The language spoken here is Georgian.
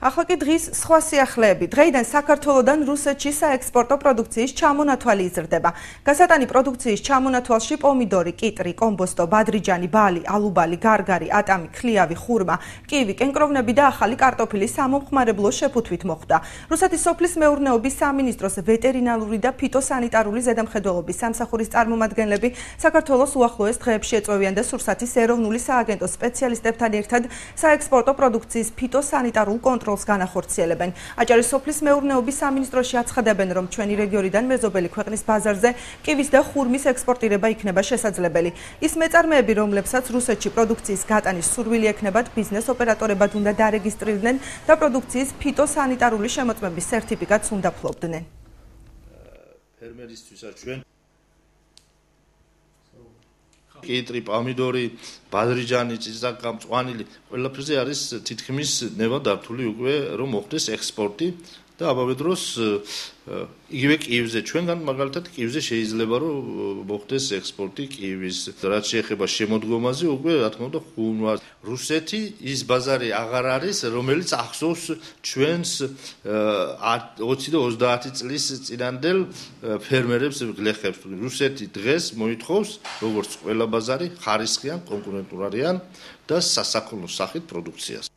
ახლა კი დღის სხვა სიახლეები. დღეიდან საქართველოდან რუსეთში საექსპორტო პროდუქციის ჩამონათვალი იზრდება. გასატანი პროდუქციის ჩამონათვალში პომიდორი, კიტრი, კომბოსტო, ბადრიჯანი, ბალი, ალუბალი, გარგარი, ატამი, ხლიავი, ხურმა, კივი, კენკროვნები და ახალი კარტოფილი სამომხმარებლო შეფუთვით მოხვდა. რუსეთის სოფლის მეურნეობის სამინისტროს ვეტერინარული და ფიტოსანიტარული ზედამხედველობის სამსახურის წარმომადგენლები საქართველოს უახლოეს დღეებში ეწვევიან და სურსათის ეროვნული სააგენტოს სპეციალისტებთან ერთად საექსპორტო პროდუქციის ფიტოსანიტარულ კონტროლს განახორციელებენ. აჭარის სოფლის მეურნეობის სამინისტროში აცხადებენ, რომ ჩვენი რეგიონიდან მეზობელი ქვეყნის ბაზარზე კივის და ხურმის ექსპორტირება იქნება შესაძლებელი. ის მეწარმეები, რომლებსაც რუსეთში პროდუქციის გატანის სურვილი ექნებათ, ბიზნეს ოპერატორებად უნდა დარეგისტრირდნენ და პროდუქციის ფიტოსანიტარული შემოწმების სერტიფიკატს უნდა ფლობდნენ. ფერმერისთვისაც ჩვენ კიტრი, პომიდორი, ბადრიჯანი, წიწაკა, მწვანილი, ყველაფერზე არის თითქმის ნება დართული უკვე რომ მოხდეს ექსპორტი და ამავე დროს იგივე კივზე ჩვენგან მაგალითად კივზე შეიძლება რომ მოხდეს ექსპორტი კივის. რაც შეეხება შემოდგომაზე უკვე რა თქმა უნდა ხუნვა რუსეთი ის ბაზარი აღარ არის რომელიც ახსოვს ჩვენს 20 და 30 წლის წინანდელ ფერმერებს გლეხებს. რუსეთი დღეს მოითხოვს როგორც ყველა ბაზარი ხარისხიან, კონკურენტულ არიან და სასაქონლო სახით პროდუქციას.